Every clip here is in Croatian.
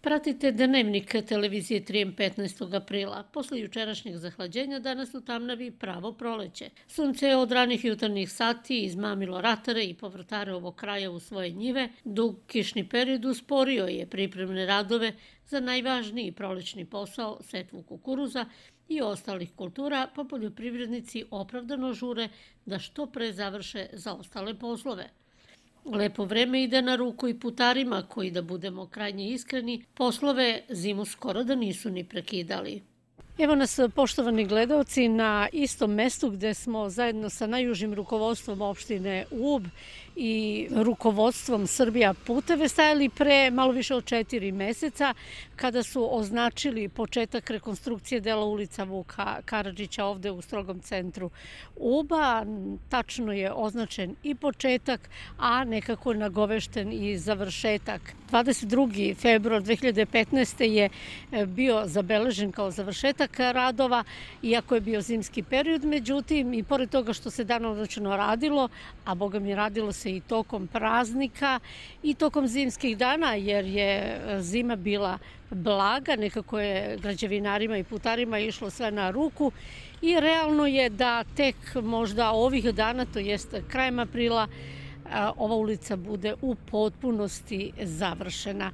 Pratite Dnevnik televizije Trijem 15. aprila. Posle jučerašnjeg zahlađenja danas u Tamnavi pravo proleće. Sunce je od ranih jutarnjih sati izmamilo ratare i povrtare ovog kraja u svoje njive. Dug kišni period usporio je pripremne radove za najvažniji prolećni posao, setvu kukuruza i ostalih kultura, pa poljoprivrednici opravdano žure da što pre završe zaostale poslove. Lepo vreme ide na ruku i putarima koji, da budemo krajnje iskreni, poslove zimu skoro da nisu ni prekidali. Evo nas, poštovani gledaoci, na istom mestu gde smo zajedno sa najužim rukovodstvom opštine Ub i rukovodstvom Srbija puteve stajali pre malo više od 4 meseca kada su označili početak rekonstrukcije dela ulica Vuka Karadžića ovde u strogom centru Uba. Tačno je označen i početak, a nekako nagovešten i završetak. 22. februar 2015. je bio zabeležen kao završetak radova, iako je bio zimski period. Međutim, i pored toga što se danonoćno radilo, a boga mi radilo se i tokom praznika i tokom zimskih dana, jer je zima bila blaga, nekako je građevinarima i putarima išlo sve na ruku i realno je da tek možda ovih dana, to jest krajem aprila, ova ulica bude u potpunosti završena.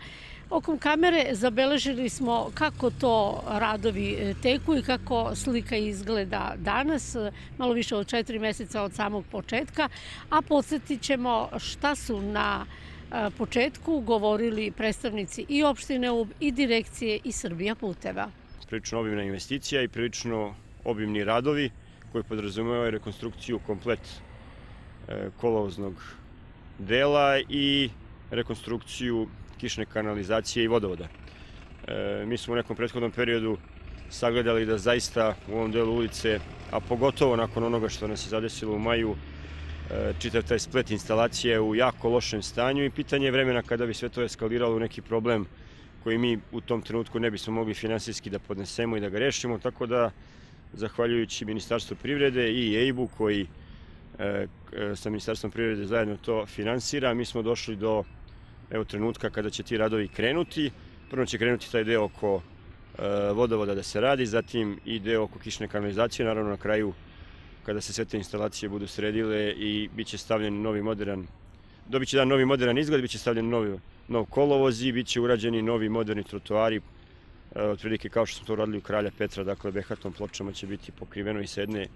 Okom kamere zabeležili smo kako to radovi teku i kako slika izgleda danas, malo više od 4 meseca od samog početka, a podsjetit ćemo šta su na početku govorili predstavnici i opštine Ub i direkcije i Srbija puteva. Prilično obimna investicija i prilično obimni radovi koji podrazumevaju rekonstrukciju komplet kolovoznog dela i rekonstrukciju kišne kanalizacije i vodovoda. Mi smo u nekom prethodnom periodu sagledali da zaista u ovom delu ulice, a pogotovo nakon onoga što nas je zadesilo u maju, čitav taj splet instalacije u jako lošem stanju i pitanje je vremena kada bi sve to eskaliralo u neki problem koji mi u tom trenutku ne bismo mogli finansijski da podnesemo i da ga rešimo, tako da zahvaljujući Ministarstvu privrede i EIB-u koji sa Ministarstvom privrede zajedno to finansira, mi smo došli do trenutka kada će ti radovi krenuti. Prvo će krenuti taj deo oko vodovoda da se radi, zatim i deo oko kišne kanalizacije, naravno na kraju kada se sve te instalacije budu sredile i bit će stavljen novi moderan, dobit će novi moderan izgled, bit će stavljen nov kolovoz i bit će urađeni novi moderni trotoari, otprilike kao što smo to radili u Kralja Petra, dakle behatom pločama će biti pokriveno i sa jedne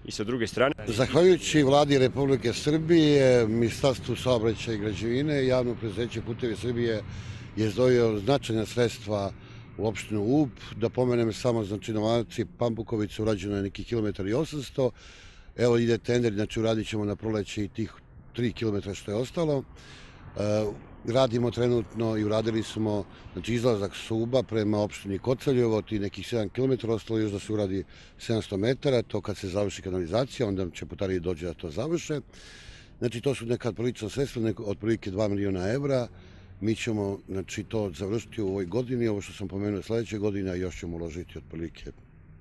i sa druge strane. Zahvaljujući Vladi Republike Srbije, Ministarstvu saobraćaja i građevine, javno preduzeće Putevi Srbije je izdvojio značajna sredstva u opštinu Ub. Da pomenem samo, znači na Vanci Pambukovica urađeno je neki 1,8 km. Evo ide tender, znači uradit ćemo na proleće i tih 3 km što je ostalo. Radimo trenutno i uradili smo izlazak s Uba prema opštini Koceljevo, ti nekih 7 km, ostalo još da se uradi 700 metara, to kad se završi kanalizacija, onda će putari dođe da to završe. Znači to su neka prilična sredstva, otprilike 2 miliona evra. Mi ćemo to završiti u ovoj godini, ovo što sam pomenuo sledeće godine, a još ćemo uložiti otprilike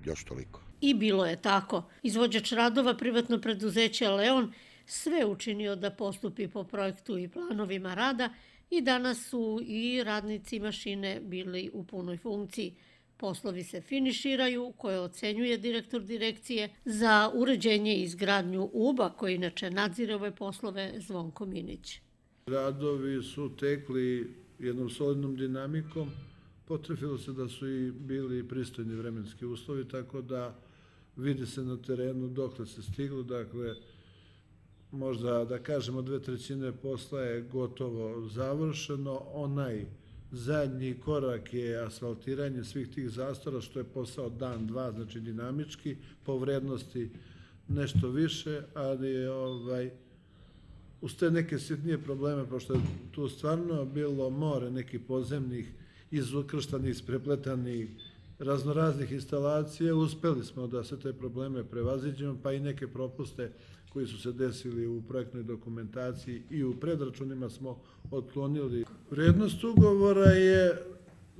još toliko. I bilo je tako. Izvođač radova, privatno preduzeće Leon, sve učinio da postupi po projektu i planovima rada i danas su i radnici mašine bili u punoj funkciji. Poslovi se finiširaju, koje ocenjuje direktor direkcije za uređenje i izgradnju Uba, koji inače nadzire ove poslove, Zvonko Minić. Radovi su tekli jednom solidnom dinamikom, potrefilo se da su i bili pristojni vremenski uslovi, tako da vidi se na terenu dokle se stiglo, dakle, možda da kažemo 2/3 posla je gotovo završeno. Onaj zadnji korak je asfaltiranje svih tih zastora, što je posao dan, dva, znači dinamički, po vrednosti nešto više, ali je uz te neke sitnije probleme, pošto je tu stvarno bilo more nekih podzemnih, izukrštanih, isprepletanih, raznoraznih instalacija, uspeli smo da se te probleme prevaziđemo, pa i neke propuste koji su se desili u projektnoj dokumentaciji i u predračunima smo otklonili. Vrednost ugovora je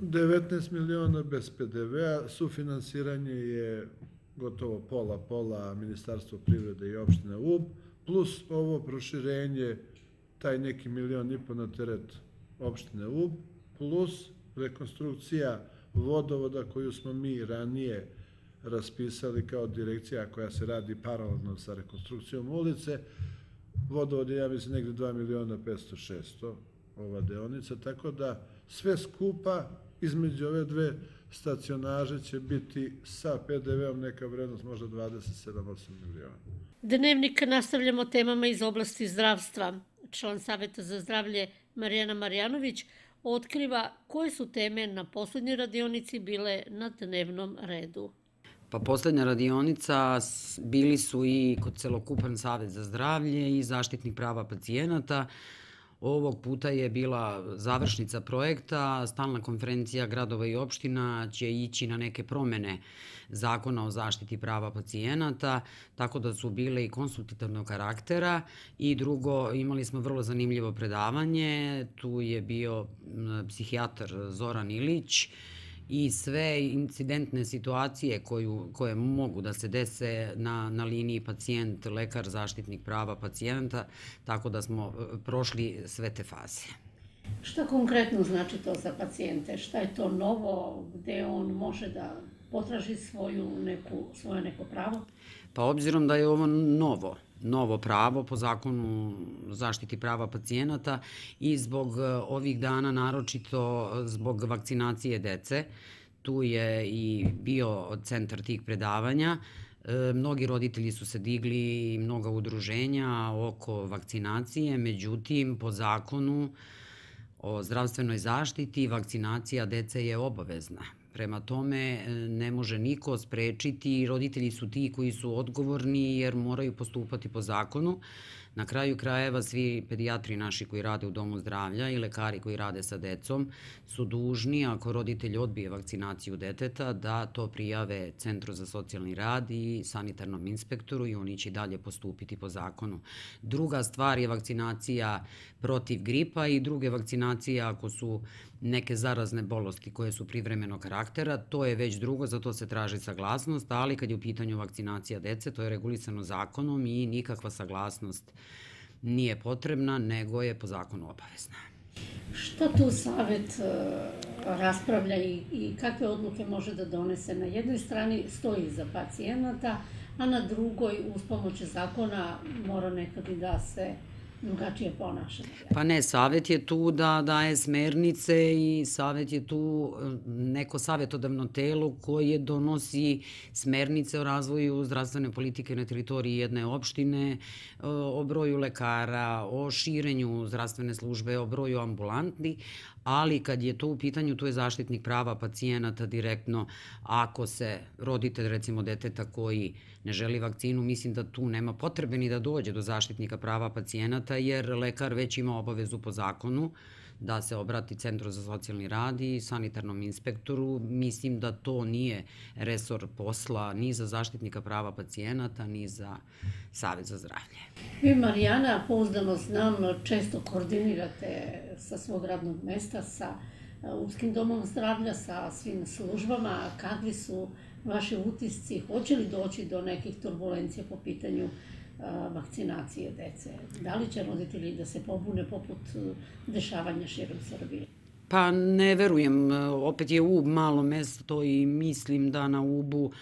19 miliona bez PDV-a, sufinansiranje je gotovo pola Ministarstvo privrede i opštine Ub, plus ovo proširenje, taj neki 1,5 miliona na teret opštine Ub, plus rekonstrukcija vodovoda koju smo mi ranije raspisali kao direkcija koja se radi paralelno sa rekonstrukcijom ulice. Vodovod je, ja mislim, negde 2.500.600 ova deonica, tako da sve skupa između ove dve stacionaže će biti sa PDV-om neka vrednost možda 27-8 miliona. Dnevnik nastavljamo temama iz oblasti zdravstva. Član Saveta za zdravlje Marijana Marjanović otkriva koje su teme na poslednjoj radionici bile na dnevnom redu. Pa poslednja radionica bili su i kod celokupan Savet za zdravlje i zaštitnik prava pacijenata. Ovog puta je bila završnica projekta, stalna konferencija gradova i opština će ići na neke promene zakona o zaštiti prava pacijenata, tako da su bile i konsultativnog karaktera i drugo, imali smo vrlo zanimljivo predavanje, tu je bio psihijatar Zoran Ilić i sve incidentne situacije koje mogu da se dese na liniji pacijent, lekar, zaštitnik prava pacijenta, tako da smo prošli sve te faze. Šta konkretno znači to za pacijente? Šta je to novo, gde on može da potraži svoje neko pravo? Pa obzirom da je ovo novo pravo po zakonu zaštiti prava pacijenata i zbog ovih dana, naročito zbog vakcinacije dece, tu je i bio centar tih predavanja. Mnogi roditelji su se digli i mnoga udruženja oko vakcinacije, međutim, po zakonu o zdravstvenoj zaštiti vakcinacija dece je obavezna. Prema tome ne može niko sprečiti, roditelji su ti koji su odgovorni jer moraju postupati po zakonu. Na kraju krajeva svi pedijatri naši koji rade u domu zdravlja i lekari koji rade sa decom su dužni, ako roditelj odbije vakcinaciju deteta, da to prijave Centru za socijalni rad i sanitarnom inspektoru i oni će dalje postupiti po zakonu. Druga stvar je vakcinacija protiv gripa i druge vakcinacije ako su neke zarazne bolesti koje su privremenog karaktera, to je već drugo, za to se traži saglasnost, ali kad je u pitanju vakcinacija dece, to je regulisano zakonom i nikakva saglasnost nije potrebna, nego je po zakonu obavezna. Šta tu Savet raspravlja i kakve odluke može da donese? Na jednoj strani stoji za pacijenata, a na drugoj, uz pomoć zakona, mora nekad i da se drugačije ponašanje. Pa ne, Savet je tu da daje smernice i Savet je tu neko savetodavno telo koje donosi smernice o razvoju zdravstvene politike na teritoriji jedne opštine, o broju lekara, o širenju zdravstvene službe, o broju ambulanti, ali kad je to u pitanju, tu je zaštitnik prava pacijenata direktno. Ako se roditelj, recimo deteta koji ne želi vakcinu, mislim da tu nema potrebe ni da dođe do zaštitnika prava pacijenata, jer lekar već ima obavezu po zakonu da se obrati Centru za socijalni rad i sanitarnom inspektoru. Mislim da to nije resor posla ni za zaštitnika prava pacijenata, ni za Savet za zdravlje. Vi, Marijana, pouzdano znam, često koordinirate sa svog radnog mesta, sa Upskim domom zdravlja, sa svim službama. Kakvi su vaši utisci? Hoće li doći do nekih turbulencija po pitanju vakcinacije dece? Da li će roditelji da se pobune poput dešavanja širom Srbije? Pa ne verujem. Opet je Ub malo mesto i mislim da na Ubu,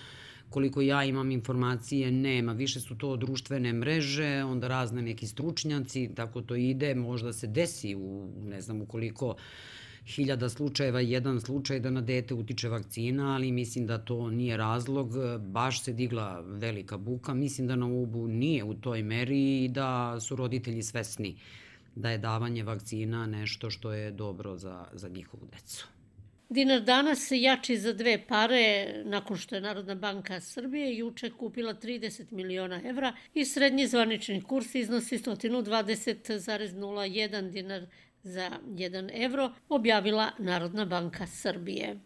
koliko ja imam informacije, nema. Više su to društvene mreže, onda razne neki stručnjaci, tako to ide. Možda se desi ne znam u koliko hiljada slučajeva, jedan slučaj da na dete utiče vakcina, ali mislim da to nije razlog. Baš se digla velika buka. Mislim da na Ubu nije u toj meri i da su roditelji svesni da je davanje vakcina nešto što je dobro za njihovu decu. Dinar danas jači za 2 pare nakon što je Narodna banka Srbije juče kupila 30 miliona evra i srednji zvanični kurs iznosi 120,01 dinar za 1 evro, objavila Narodna banka Srbije.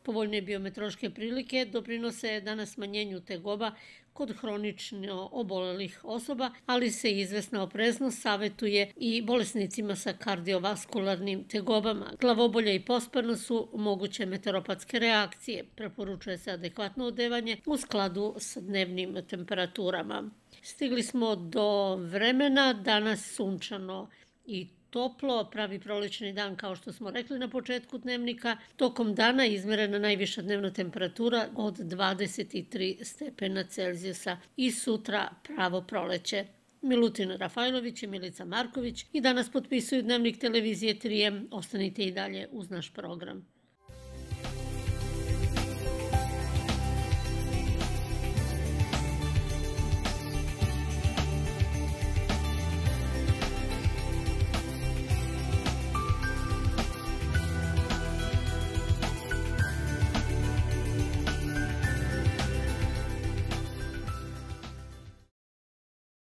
Povoljne biometeorološke prilike doprinose danas smanjenju tegoba kod hronično obolelih osoba, ali se izvesna opreznost savetuje i bolesnicima sa kardiovaskularnim tegobama. Glavobolja i posparno su moguće meteoropatske reakcije. Preporučuje se adekvatno odevanje u skladu sa dnevnim temperaturama. Stigli smo do vremena, danas sunčano i toplo, pravi prolećni dan kao što smo rekli na početku dnevnika. Tokom dana izmerena najviša dnevna temperatura od 23 stepena Celzijusa i sutra pravo proleće. Milutin Rafajlović i Milica Marković i danas potpisuju dnevnik televizije 3M. Ostanite i dalje uz naš program.